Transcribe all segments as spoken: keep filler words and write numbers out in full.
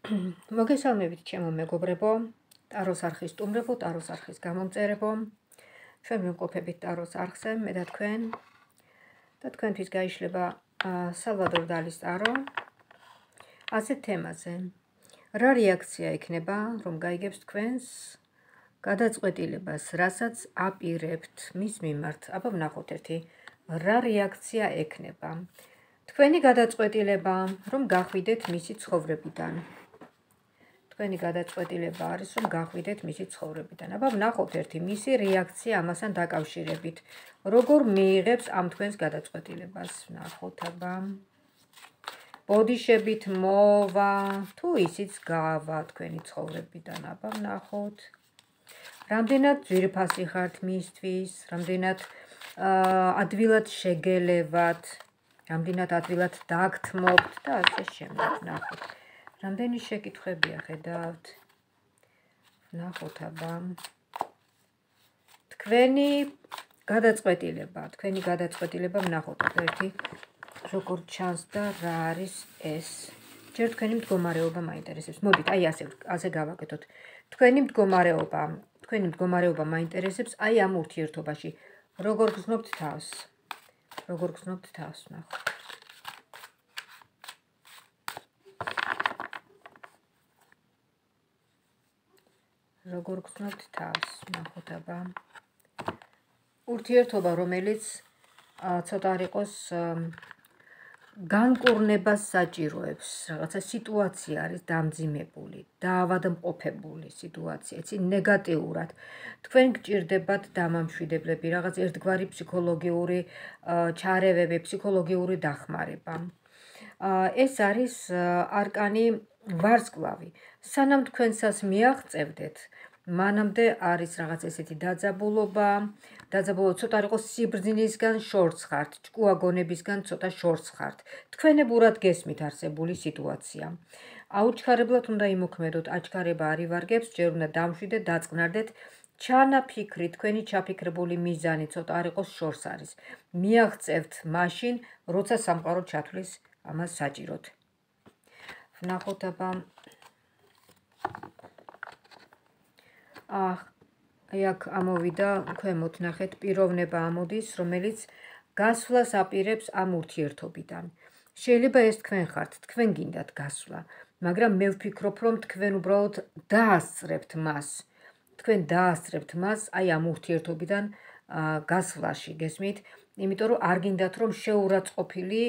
მოგესალმებით ჩემო მეგობრებო, ტაროს არხის სტუმრებო, ტაროს არხის გამომწერებო. ჩვენ ვიმყოფებით ტაროს არხზე, მე და თქვენ. და თქვენთვის გაიშლება სალვადორ დალის ტარო. ასეთ თემაზე. რა რეაქცია იქნება, რომ გაიგებს თქვენს გადაწყვეტილებას, რასაც აპირებთ მის მიმართ. აბა ვნახოთ ერთი, რა რეაქცია ექნება. თქვენი გადაწყვეტილება, რომ გახვიდეთ მისი ცხოვრებიდან. თქვენი გადაწყვეტილება არის, რომ გახვიდეთ მისი ცხოვრებიდან. აბა ვნახოთ ერთი მისი რეაქცია ამასთან დაკავშირებით. როგორ მიიღებს ამ თქვენს გადაწყვეტილებას. ვნახოთ აბა. ბოდიშებით მოვა, თუ ისიც გავა თქვენი ცხოვრებიდან. აბა ვნახოთ. რამდენად ძვირფასი ხართ მისთვის, რამდენად ადვილად შეგელევათ, რამდენად ადვილად დაგთმობთ და ასე შემდეგ. ვნახოთ. რამდენი შეკითხვებია ხედავთ. ვნახოთ აბა. თქვენი გადაწყვეტილება, თქვენი გადაწყვეტილება ვნახოთ აბა ერთი როგორ ჩანს და რა არის ეს. ჯერ თქვენი მდგომარეობა მაინტერესებს. მოდით, აი ასე ასე გავაკეთოთ. თქვენი მდგომარეობა, თქვენი მდგომარეობა მაინტერესებს აი ამ ურთიერთობაში. როგორ გრძნობთ თავს? როგორ გრძნობთ თავს, ვნახოთ. როგორ გრძნობთ თავს, ვნახოთ აბა. ურთიერთობა, რომელიც ცოტა არ იყოს განკურნებას საჭიროებს, რაღაცა სიტუაცია არის დამძიმებული, დაავადმყოფებული სიტუაცია, იცი, ნეგატიურად. თქვენ გჭირდებათ დამამშვიდებლები, რაღაც ერთგვარი ფსიქოლოგიური ჩარევები, ფსიქოლოგიური დახმარება. ეს არის არკანი ვარსკვლავი. სანამ თქვენსას მიაღწევდეთ, მანამდე არის რაღაც ესეთი დაძაბულობა, დაძაბულობა ცოტა არ იყოს სიბრძნისგან შორს ხართ, ჭკუაგონებისგან ცოტა შორს ხართ. თქვენებურად გესმით არსებული სიტუაცია. აუჩქარებლად უნდა იმოქმედოთ, აჩქარება არ ივარგებს, ჯერ უნდა დამშვიდეთ, დაწყნარდეთ. ჩანაფიქრი, თქვენი ჩაფიქრებული მიზანი ცოტა არ იყოს შორს არის. მიაღწევთ მაშინ, როცა სამყარო ჩათვლის ამას საჭიროდ. ვნახოთ აბა. აх, აი აქ ამოვიდა, ქვემოთ ნახეთ, პიროვნება ამოდის, რომელიც გასვლას აპირებს ამ ურთიერთობიდან. შეიძლება ეს თქვენ ხართ, თქვენ გინდათ გასვლა, მაგრამ მე ვფიქრობ, რომ თქვენ უბრალოდ დაასწრებთ მას. თქვენ დაასწრებთ მას აი ამ ურთიერთობიდან გასვლაში, გესმით? იმიტომ რომ არ გინდათ რომ შეურაცხყოფილი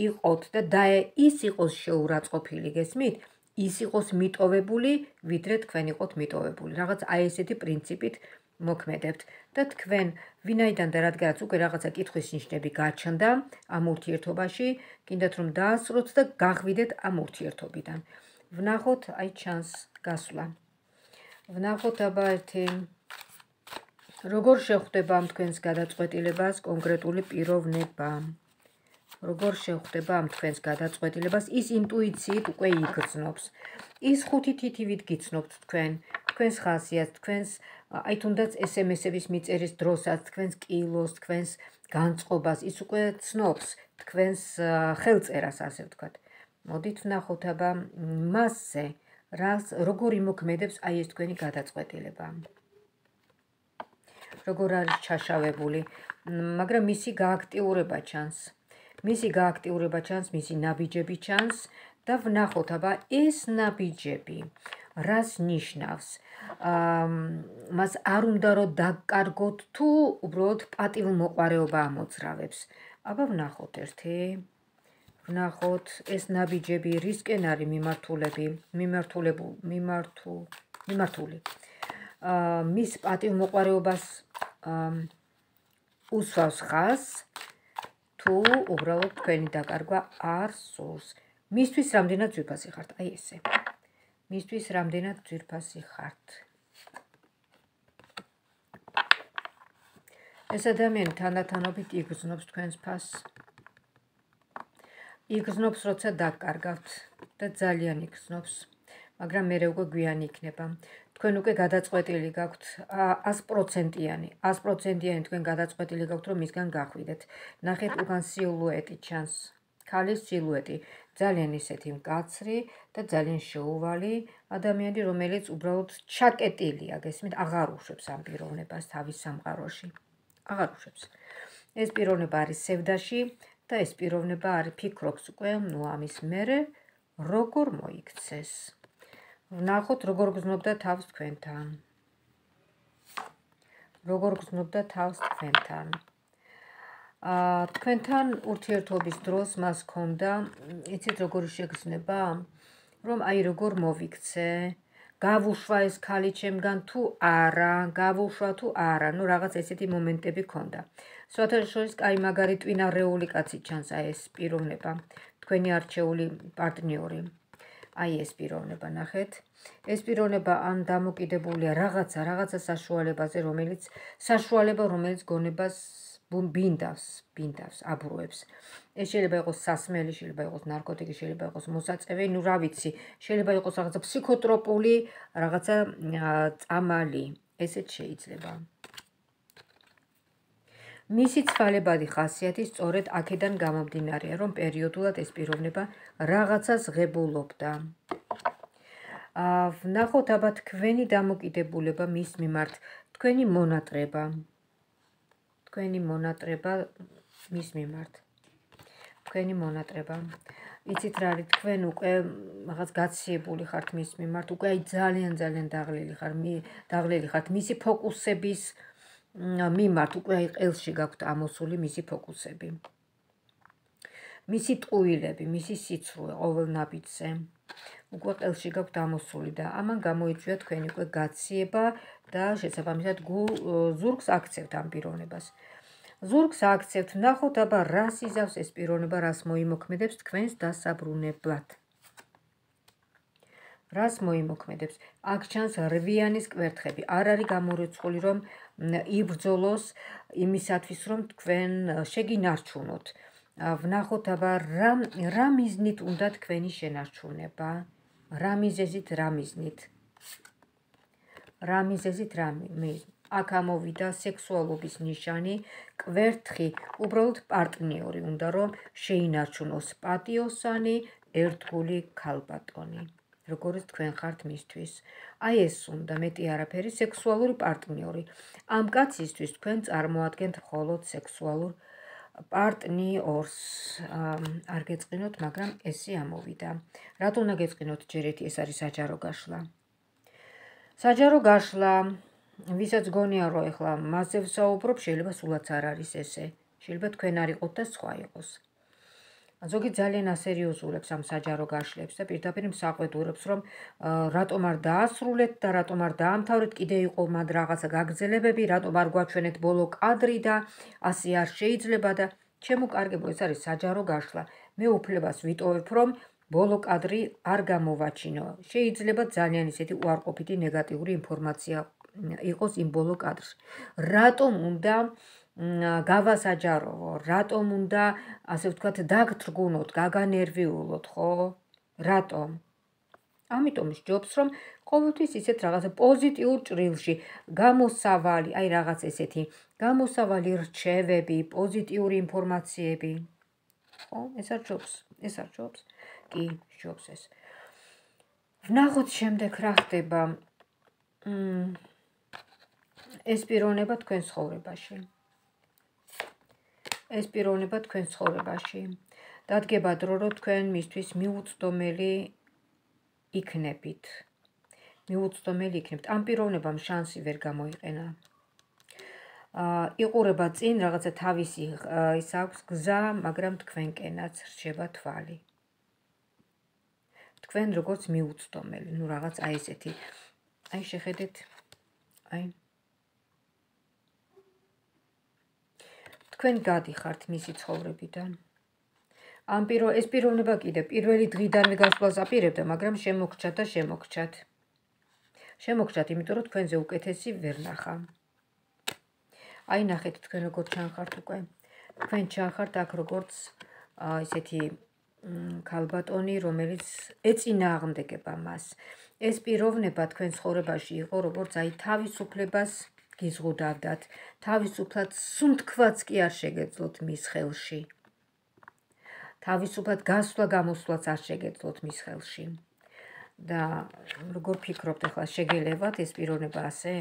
იყოთ და ის იყოს შეურაცხყოფილი, გესმით? ის იყოს მიტოვებული, ვიდრე თქვენ იყოთ მიტოვებული. რაღაც აი ესეთი პრინციპით მოქმედებთ და თქვენ ვინაიდან და რადგანაც უკვე რაღაცა კითხვის ნიშნები გაჩნდა ამ ურთიერთობაში, გინდათ რომ დაასწროთ და გახვიდეთ ამ ურთიერთობიდან. ვნახოთ, აი ჩანს გასვლა. ვნახოთ აბა ერთი როგორ შეხვდება ამ თქვენს გადაწყვეტილებას კონკრეტული პიროვნება. როგორ შეხვდება ამ თქვენს გადაწყვეტილებას, ის ინტუიციით უკვე იგრძნობს. ის ხუთი თითივით გიცნობთ თქვენ, თქვენს ხასიათს, თქვენს აი თუნდაც ესემესების მიწერის დროსაც, თქვენს კილოს, თქვენს განწყობას, ის უკვე ცნობს თქვენს ხელწერას, ასე ვთქვათ. მოდით ვნახოთ აბა მასზე, როგორ იმოქმედებს აი ეს თქვენი გადაწყვეტილება. როგორ არის ჩაშავებული, მაგრამ მისი გააქტიურება ჩანს. მისი გააქტიურება ჩანს, მისი ნაბიჯები ჩანს და ვნახოთ აბა ეს ნაბიჯები რას ნიშნავს? მას არ უნდა რომ დაკარგოთ თუ უბრალოდ პატივმოყვარეობა ამოძრავებს. აბა ვნახოთ ერთი. ვნახოთ ეს ნაბიჯები რისკენ არის მიმართულები, მიმართულებული, მიმართუ, მიმართული. მის პატივმოყვარეობას უსვავს ხაზს. თუ უბრალოდ თქვენი დაკარგვა არ სურს. მისთვის რამდენად ძვირფასი ხართ, აი ესე. მისთვის რამდენად ძვირფასი ხართ. ეს ადამიანი თანდათანობით იგრძნობს თქვენს ფასს. იგრძნობს, როცა დაკარგავთ და ძალიან იგრძნობს, მაგრამ მერე უკვე გვიანი იქნება. თქვენ უკვე გადაწყვეტილი გაქვთ ას პროცენტიანი, ას პროცენტიანი თქვენ გადაწყვეტილი გაქვთ, რომ მისგან გახვიდეთ. ნახეთ, უკან სილუეტი ჩანს. ქალის სილუეტი ძალიან ისეთი მკაცრი და ძალიან შეუვალი ადამიანი, რომელიც უბრალოდ ჩაკეტილია, გესმით, აღარ უშვებს ამ პიროვნებას თავის სამყაროში. აღარ უშვებს. ეს პიროვნება არის სევდაში და ეს პიროვნება არის ფიქრობს უკვე, ნუ ამის მერე როგორ მოიქცეს. ვნახოთ, როგორ გრძნობდა თავს თქვენთან. როგორ გრძნობდა თავს თქვენთან. აა თქვენთან ურთიერთობის დროს მას ჰქონდა, იცით როგორი შეგრძნება, რომ აი როგორ მოვიქცე, გავუშვა ეს ქალი ჩემგან თუ არა, გავუშვა თუ არა, ნუ რაღაც ესეთი მომენტები ჰქონდა. სხვათა შორის კაი მაგარი ტვინარეული კაცი ჩანს აი ეს პიროვნება, თქვენი არჩეული პარტნიორი. აი ეს პიროვნება, ნახეთ. ეს პიროვნება ან დამოკიდებულია რაღაცა, რაღაცა საშუალებაზე, რომელიც საშუალება, რომელიც გონებას ბინდავს, ბინდავს, აბრუებს. ეს შეიძლება იყოს სასმელი, შეიძლება იყოს ნარკოტიკი, შეიძლება იყოს მოსაწევი, ნუ რა ვიცი, შეიძლება იყოს რაღაცა ფსიქოტროპული, რაღაცა წამალი, ესეც შეიძლება. მისი ცვალებადი ხასიათი სწორედ აქედან გამომდინარეა, რომ პერიოდულად ეს პიროვნება რაღაცას ღებულობდა. ვნახოთ აბა თქვენი დამოკიდებულება მის მიმართ, თქვენი მონატრება. თქვენი მონატრება მის მიმართ. თქვენი მონატრება. იცით რა არის, თქვენ უკვე რაღაც გაციებული ხართ მის მიმართ, უკვე აი ძალიან ძალიან დაღლილი ხარ, დაღლილი ხართ მისი ფოკუსების მიმართ, უკვე აი ყელში გაქვთ ამოსული მისი ფოკუსები. მისი ტყუილები, მისი სიცრუე ყოველ ნაბიჯზე. უკვე ყელში გაქვთ ამოსული და ამან გამოიწვია თქვენი უკვე გაციება და შესაბამისად ზურგს აქცევთ ამ პიროვნებას. ზურგს აქცევთ, ნახოთ აბა რას იზავს ეს პიროვნება, რას მოიმოქმედებს თქვენს დასაბრუნებლად. რას მოიმოქმედებს? აქ ჩანს რვიანის კვერთხები. არ არის გამორიცხული, რომ იბრძოლოს იმისათვის, რომ თქვენ შეგინარჩუნოთ. ვნახოთ აბა რა მიზნით უნდა თქვენი შენარჩუნება? რა მიზეზით, რა მიზნით? რა მიზეზით, რა მიზნით? აქ ამოვიდა სექსუალობის ნიშანი, კვერთხი, უბრალოდ პარტნიორი უნდა რომ შეინარჩუნოს პატიოსანი, ერთგული ქალბატონი. როგორც თქვენ ხართ მისთვის. აი ეს უნდა, მეტი არაფერი, სექსუალური პარტნიორი. ამ კაცისთვის თქვენ წარმოადგენთ მხოლოდ სექსუალურ პარტნიორს. არ გეწყინოთ, მაგრამ ესე ამოვიდა. რატო უნდა გეწყინოთ ჯერეთი, ეს არის საჯარო გაშლა. საჯარო გაშლა, ვისაც გონია რომ ეხლა მასზე ვსაუბრობ, შეიძლება სულაც არ არის ესე. შეიძლება თქვენ არ იყოთ და სხვა იყოს. ზოგი ძალიან ასერიოზულებს ამ საჯარო გაშლებს და პირდაპირ მსაყვედურებს, რომ რატომ არ დაასრულეთ და რატომ არ დაამთავრეთ, კიდე იყო მად რაღაცა გაგრძელებები, რატომ არ გვაჩვენეთ ბოლო კადრი და ასე არ შეიძლება და ჩემო კარგებო, ეს არის საჯარო გაშლა. მე უფლებას ვიტოვებ, რომ ბოლო კადრი არ გამოვაჩინო. შეიძლება ძალიან ისეთი უარყოფითი ნეგატიური ინფორმაცია იყოს იმ ბოლო კადრში. რატომ უნდა გავასაჯაროვო, რატომ უნდა, ასე ვთქვათ, დაგთრგუნოთ, გაგანერვიულოთ, ხო? რატომ? ამიტომ სჯობს, რომ ყოველთვის ისეთ რაღაცა პოზიტიურ ჭრილში, გამოსავალი, აი რაღაც ესეთი, გამოსავალი რჩევები, პოზიტიური ინფორმაციები. ხო, ეს არ ჯობს, ეს არ ჯობს. კი, ჯობს ეს. ვნახოთ შემდეგ რა ხდება. ეს პიროვნება თქვენ ცხოვრებაში. ეს პიროვნება თქვენ ცხოვრებაში. დადგება დრო, რომ თქვენ მისთვის მიუწვდომელი იქნებით. მიუწვდომელი იქნებით. ამ პიროვნებამ შანსი ვერ გამოიყენა. იყურება წინ, რაღაცა თავისი ის აქვს გზა, მაგრამ თქვენკენაც რჩება თვალი. თქვენ როგორც მიუწვდომელი, ნუ რაღაც აი ესეთი. აი შეხედეთ, აი თქვენ გადიხართ მისი ცხოვრებიდან. ამ პირო ეს პიროვნება კიდე პირველი დღიდანვე გასვლას აპირებდა, მაგრამ შემოგჩათ და შემოგჩათ. შემოგჩათ, იმიტომ რომ თქვენზე უკეთესი ვერ ნახა. აი ნახეთ თქვენ როგორ ჩანხართ უკვე. თქვენ ჩანხართ აქ როგორც ესეთი ქალბატონი, რომელიც ეწინააღმდეგება მას. ეს პიროვნება თქვენ ცხოვრებაში იყო, როგორც აი თავისუფლებას გიზღუდავდათ, თავისუფლად სუნთქვაც კი არ შეგეძლოთ მის ხელში. თავისუფლად გასვლა გამოსვლაც არ შეგეძლოთ მის ხელში. და როგორ ფიქრობთ ახლა შეგელევათ ეს პიროვნება ასე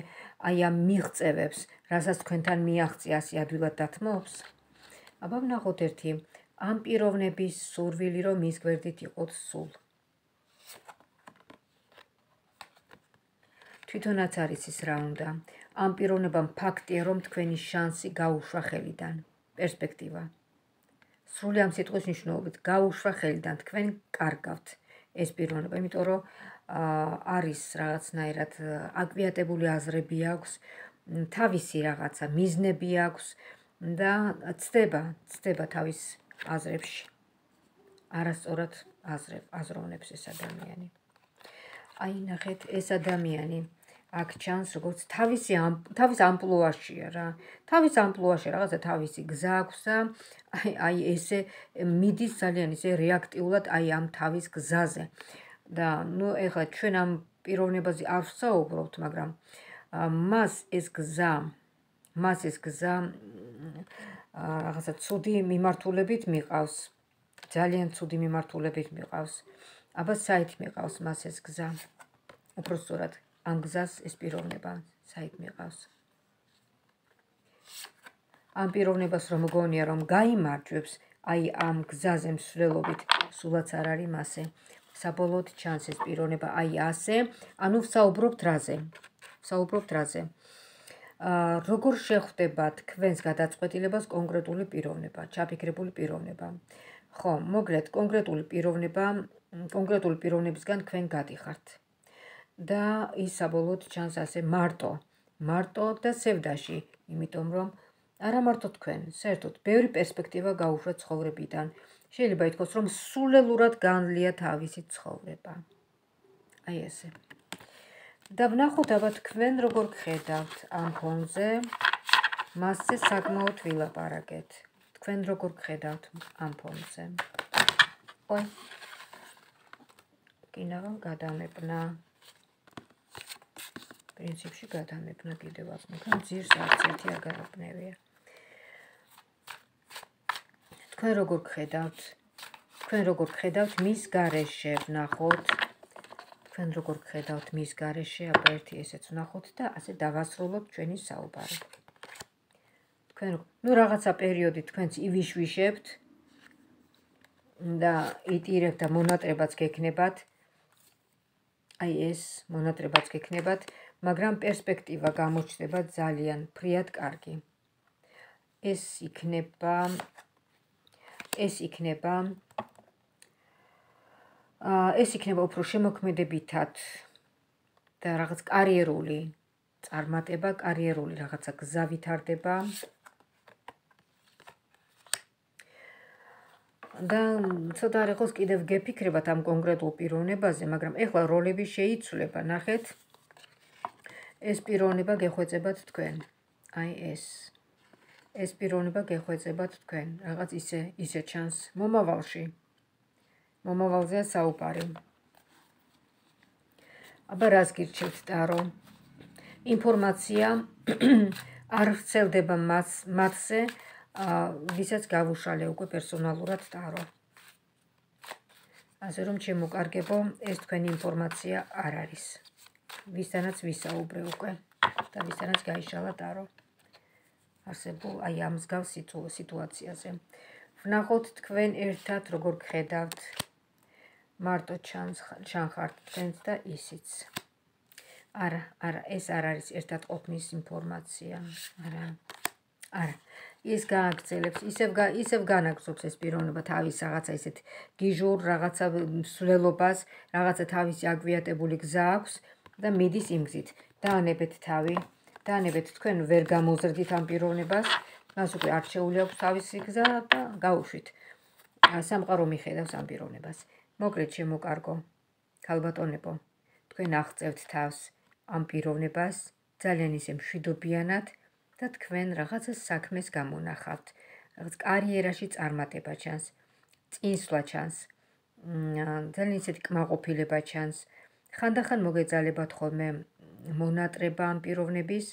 აი ამ მიღწევებს, რასაც თქვენთან მიაღწია ასე ადვილად დათმობს? აბა ვნახოთ ერთი ამ პიროვნების სურვილი რომ მის გვერდით იყოთ სულ. თვითონაც არის ის რა უნდა. ამ პიროვნებამ ფაქტია რომ თქვენი შანსი გაუშვა ხელიდან. პერსპექტივა. სრული ამ სიტყვის მნიშვნელობით გაუშვა ხელიდან თქვენ კარგავთ ეს პიროვნება, იმიტომ რომ არის რაღაცნაირად აკვიატებული აზრები აქვს, თავისი რაღაცა მიზნები აქვს და ცდება, ცდება თავის აზრებში. არასწორად აზროვნებს ეს ადამიანი. აი ნახეთ, ეს ადამიანი აქ ჩანს როგორც თავისი თავის ამპლუაშია რა. თავის ამპლუაშია რაღაცა თავისი გზა აქვს და აი ესე მიდის ძალიან ისე რეაქტიულად აი ამ თავის გზაზე. და ნუ ეხლა ჩვენ ამ პიროვნებაზე არ ვსაუბრობთ, მაგრამ მას ეს გზა, მას ეს გზა რაღაცა ცუდი მიმართულებით მიყავს. ძალიან ცუდი მიმართულებით მიყავს. აბა საით მიყავს მას ეს გზა? უпросторად ამ გზას ეს პიროვნება საით მიყავს? ამ პიროვნებას რომ მგონია რომ გაიმარჯვებს, აი ამ გზაზე მსვლელობით სულაც არ არის მასე. საბოლოოდ ჩანს ეს პიროვნება აი ასე, ანუ ვსაუბრობთ რაზე? ვსაუბრობთ რაზე? როგორ შეხვდება თქვენს გადაწყვეტილებას კონკრეტული პიროვნება, ჩაფიქრებული პიროვნება? ხო, მოგლეთ კონკრეტული პიროვნება, კონკრეტული პიროვნებისგან თქვენ გადიხართ. და ის საბოლოოდ ჩანს ასე მარტო, მარტო და სევდაში, იმიტომ რომ არა მარტო თქვენ, საერთოდ ბევრი პერსპექტივა გაუშვა ცხოვრებიდან. შეიძლება ითქვას, რომ სულელურად განლია თავისი ცხოვრება. აი ესე. და ვნახოთ აბა თქვენ როგორ გხედავთ ამ ფონზე, მასზე საკმაოდ ვილაპარაკეთ. თქვენ როგორ გხედავთ ამ ფონზე? ой. კინაღა გადამეპნა. პრინციპში გადამეპნა კიდევაც, მაგრამ ძირს არც ერთი აგარაფნევია. თქვენ როგორ გხედავთ? თქვენ როგორ გხედავთ მის გარეშე ვნახოთ. თქვენ როგორ გხედავთ მის გარეშე, აბა ერთი ესეც ვნახოთ და ასე დავასრულოთ ჩვენი საუბარი. თქვენ ნუ რაღაცა პერიოდი თქვენც ივიშვიშებთ და იტირებთ და მონატრებაც გექნებათ. აი ეს მონატრებაც გექნებათ, მაგრამ პერსპექტივა გამოჩნდება ძალიან ფრიად კარგი. ეს იქნება ეს იქნება ეს იქნება უფრო შემოქმედებითად და რაღაც კარიერული წარმატება, კარიერული რაღაცა გზა ვითარდება. და ცოტა არ იყოს კიდევ გეფიქრებათ ამ კონკრეტულ პიროვნებაზე, მაგრამ ეხლა როლები შეიცვლება, ნახეთ. ეს პიროვნება გეხვეწებათ თქვენ. აი ეს. ეს პიროვნება გეხვეწებათ თქვენ. რაღაც ისე ისე ჩანს მომავალში. მომავალზეა საუბარი. აბა რას გირჩევთ ტარო? ინფორმაცია არ ვრცელდება მათზე, ვისაც გავუშალე უკვე პერსონალურად ტარო. ასე რომ შემოკარგებო, ეს თქვენი ინფორმაცია არ არის. ვისთანაც ვისაუბრე უკვე და ვისთანაც გაიშალა ტარო. არსებულ აი ამ მსგავს სიტუაციაზე. ვნახოთ თქვენ ერთად როგორ გხედავთ. მარტო ჩანხართ თქვენც და ისიც. არა, არა, ეს არ არის ერთად ყოფნის ინფორმაცია. არა. არა. ის გააგრძელებს, ისევ ისევ განაგზობს ეს პიროვნება თავის რაღაცა ისეთ გიჟურ რაღაცა მსვლელობას, რაღაცა თავისი აკვიატებული გზა აქვს და მიდის იმ გზით. დაანებეთ თავი, დაანებეთ თქვენ ვერ გამოზრდით ამ პიროვნებას, მას უკვე არჩეული აქვს თავისი გზა და გაუშვით. სამყარო მიხედავს ამ პიროვნებას. მოკლედ შემოკარგო, ქალბატონებო, თქვენ აღწევთ თავს ამ პიროვნებას ძალიან ისე მშვიდობიანად და თქვენ რაღაცა საქმეს გამონახავთ. რაღაც კარიერაში წარმატება ჩანს, წინსვლა ჩანს, ძალიან ისეთი კმაყოფილება ჩანს. ხანდახან მოგეძალებათ ხოლმე მონატრება ამ პიროვნების,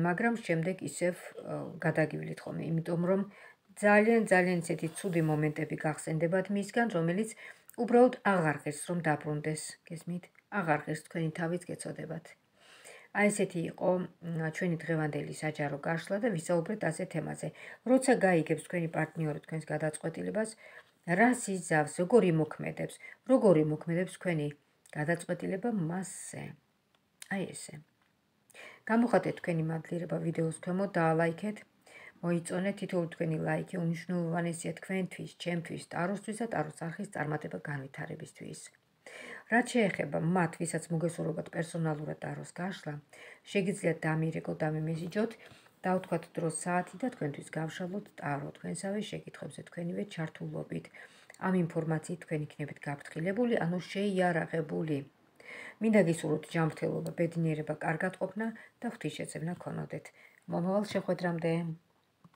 მაგრამ შემდეგ ისევ გადაგივლით ხოლმე, იმიტომ რომ ძალიან ძალიან ისეთი ცუდი მომენტები გახსენდებათ მისგან, რომელიც უბრალოდ აღარ ღირს რომ დაბრუნდეს, გესმით? აღარ ღირს თქვენი თავიც გეცოდებათ. აი ესეთი იყო ჩვენი დღევანდელი საჯარო გაშლა და ვისაუბრეთ ასე თემაზე. როცა გაიგებს თქვენი პარტნიორი თქვენს გადაწყვეტილებას, რას იზავს, როგორ იმოქმედებს, როგორ იმოქმედებს თქვენი გადაწყვეტილება მასზე. აი ესე. გამოხატეთ თქვენი მადლიერება ვიდეოს ქვემოთ, დაალაიქეთ, მოიწონეთ თითოეული თქვენი ლაიქი უმნიშვნელოვანესია თქვენთვის, ჩემთვის, ტაროსთვის და ტაროს არხის წარმატება განვითარებისთვის. რაც შეეხება მათ, ვისაც მოგესურვებათ პერსონალურად ტაროს გაშლა, შეგიძლიათ დამირეკოთ, დამიმესიჯოთ, დავთქვათ დროს საათი და თქვენთვის გავშალოთ ტარო თქვენსავე შეკითხვებზე თქვენივე ჩართულობით. ამ ინფორმაციით თქვენ იქნებით გაფრთხილებული, ანუ შეიარაღებული. მინდა გისურვოთ ჯანმრთელობა, ბედნიერება, კარგად ყოფნა და ღვთისშეწევნა გქონოდეთ. მომავალ შეხვედრამდე.